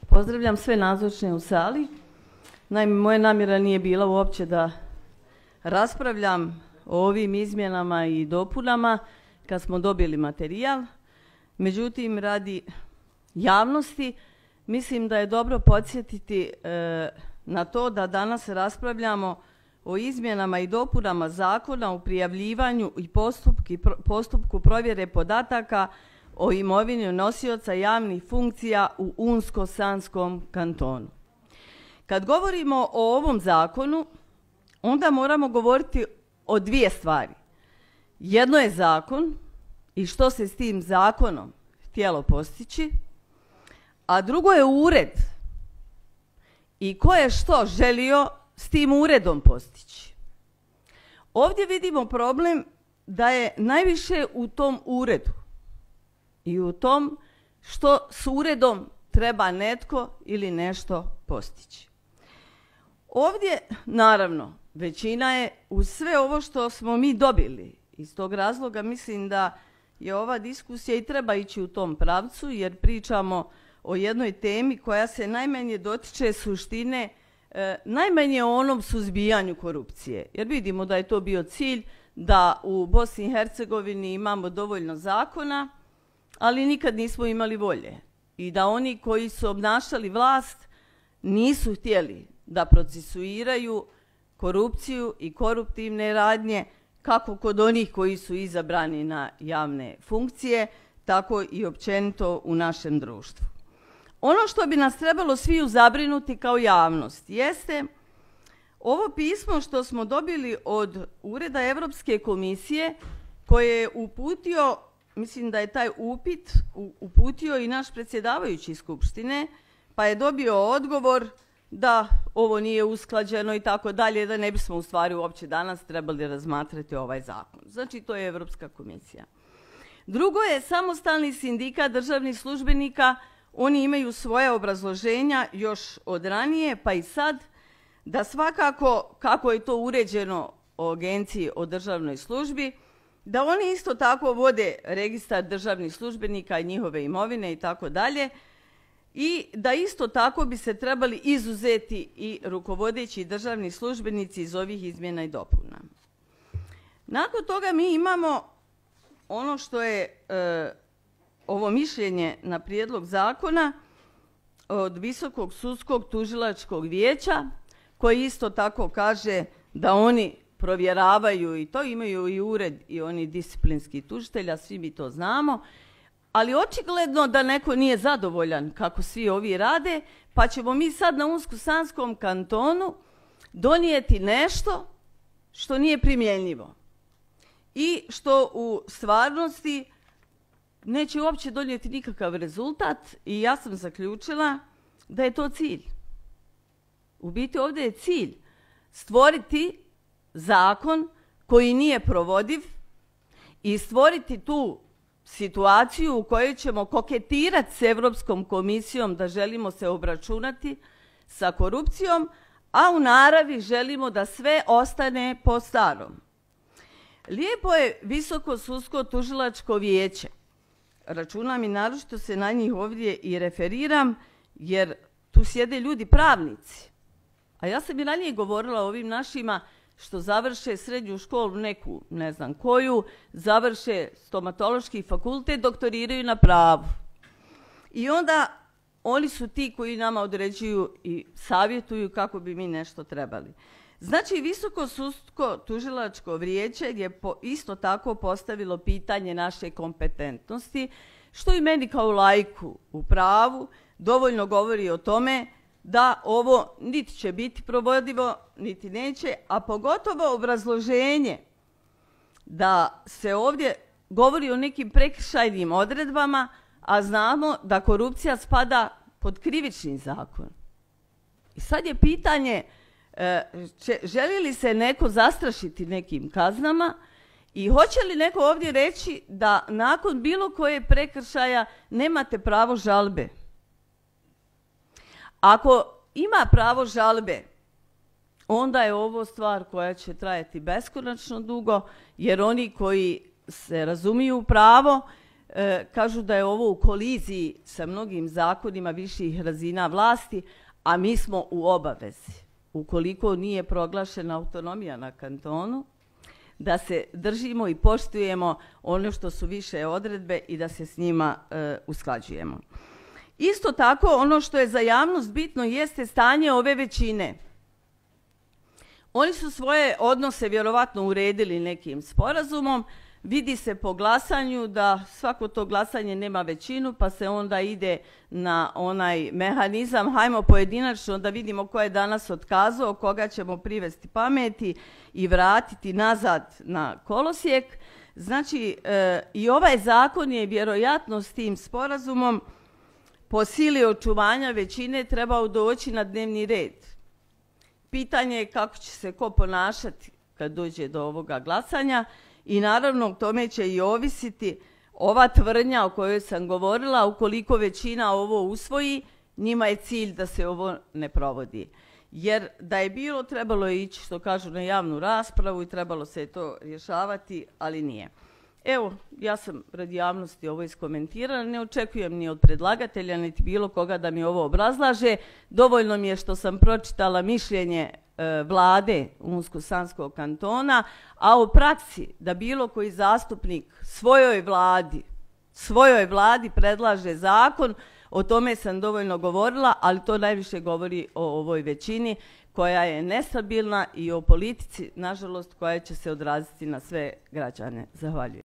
Pozdravljam sve nazočne u sali. Naime, moja namjera nije bila uopće da raspravljam o ovim izmjenama i dopunama kad smo dobili materijal. Međutim, radi javnosti mislim da je dobro podsjetiti na to da danas raspravljamo o izmjenama i dopunama Zakona o prijavljivanju i postupku provjere podataka o imovini nosioca javnih funkcija u Unsko-Sanskom kantonu. Kad govorimo o ovom zakonu, onda moramo govoriti o dvije stvari. Jedno je zakon i što se s tim zakonom htjelo postići, a drugo je ured i ko je što želio s tim uredom postići. Ovdje vidimo problem da je najviše u tom uredu i u tom što s uredom treba netko ili nešto postići. Ovdje, naravno, većina je uz sve ovo što smo mi dobili. Iz tog razloga mislim da je ova diskusija i treba ići u tom pravcu, jer pričamo o jednoj temi koja se najmanje dotiče suštine, najmanje o onom suzbijanju korupcije. Jer vidimo da je to bio cilj da u Bosni i Hercegovini imamo dovoljno zakona, ali nikad nismo imali volje. I da oni koji su obnašali vlast nisu htjeli da procesuiraju korupciju i koruptivne radnje, kako kod onih koji su izabrani na javne funkcije, tako i općenito u našem društvu. Ono što bi nas trebalo sviju zabrinuti kao javnost jeste ovo pismo što smo dobili od Ureda Europske komisije koje je uputio, mislim da je taj upit uputio i naš predsjedavajući Skupštine, pa je dobio odgovor da ovo nije usklađeno i tako dalje, da ne bismo u stvari uopće danas trebali razmatrati ovaj zakon. Znači, to je Europska komisija. Drugo je samostalni sindikat državnih službenika. Oni imaju svoje obrazloženja još od ranije, pa i sad, da svakako, kako je to uređeno o Agenciji o državnoj službi, da oni isto tako vode registar državnih službenika i njihove imovine i tako dalje, i da isto tako bi se trebali izuzeti i rukovodeći državni službenici iz ovih izmjena i dopuna. Nakon toga mi imamo ono što je ovo mišljenje na prijedlog zakona od Visokog sudskog tužilačkog vijeća, koji isto tako kaže da oni provjeravaju, i to imaju i ured i oni disciplinski tužitelja, svi mi to znamo, ali očigledno da neko nije zadovoljan kako svi ovi rade, pa ćemo mi sad na Unsko-Sanskom kantonu donijeti nešto što nije primjenjivo i što u stvarnosti neće uopće donijeti nikakav rezultat, i ja sam zaključila da je to cilj. U biti ovdje je cilj stvoriti zakon koji nije provodiv i stvoriti tu situaciju u kojoj ćemo koketirati s Europskom komisijom da želimo se obračunati sa korupcijom, a u naravi želimo da sve ostane po starom. Lijepo je Visoko sudsko tužilačko vijeće. Računam i naročito se na njih ovdje i referiram, jer tu sjede ljudi pravnici. A ja sam i ranije govorila o ovim našima što završe srednju školu neku, ne znam koju, završe stomatološki fakultet, doktoriraju na pravu. I onda oni su ti koji nama određuju i savjetuju kako bi mi nešto trebali. Znači, Visoko sudsko tužilačko vijeće je isto tako postavilo pitanje naše kompetentnosti, što i meni kao laiku u pravu dovoljno govori o tome da ovo niti će biti provodivo, niti neće, a pogotovo obrazloženje da se ovdje govori o nekim prekršajnim odredbama, a znamo da korupcija spada pod krivični zakon. I sad je pitanje, želi li se neko zastrašiti nekim kaznama i hoće li neko ovdje reći da nakon bilo koje prekršaja nemate pravo žalbe? Ako ima pravo žalbe, onda je ovo stvar koja će trajati beskonačno dugo, jer oni koji se razumiju u pravo kažu da je ovo u koliziji sa mnogim zakonima viših razina vlasti, a mi smo u obavezi, ukoliko nije proglašena autonomija na kantonu, da se držimo i poštujemo ono što su više odredbe i da se s njima usklađujemo. Isto tako, ono što je za javnost bitno jeste stanje ove većine. Oni su svoje odnose vjerovatno uredili nekim sporazumom, vidi se po glasanju da svako to glasanje nema većinu, pa se onda ide na onaj mehanizam, hajmo pojedinačno da vidimo ko je danas otkazao, koga ćemo privesti pameti i vratiti nazad na kolosijek. Znači, i ovaj zakon je vjerojatno s tim sporazumom po sili očuvanja većine trebao doći na dnevni red. Pitanje je kako će se ko ponašati kad dođe do ovoga glasanja i naravno o tome će i ovisiti ova tvrdnja o kojoj sam govorila, ukoliko većina ovo usvoji, njima je cilj da se ovo ne provodi. Jer da je bilo, trebalo je ići, što kažu, na javnu raspravu i trebalo se to rješavati, ali nije. Evo, ja sam radi javnosti ovo iskomentirala, ne očekujem ni od predlagatelja, niti bilo koga da mi ovo obrazlaže. Dovoljno mi je što sam pročitala mišljenje vlade Unsko-Sanskog kantona, a u praksi da bilo koji zastupnik svojoj vladi predlaže zakon, o tome sam dovoljno govorila, ali to najviše govori o ovoj većini koja je nestabilna i o politici, nažalost, koja će se odraziti na sve građane. Zahvaljujem.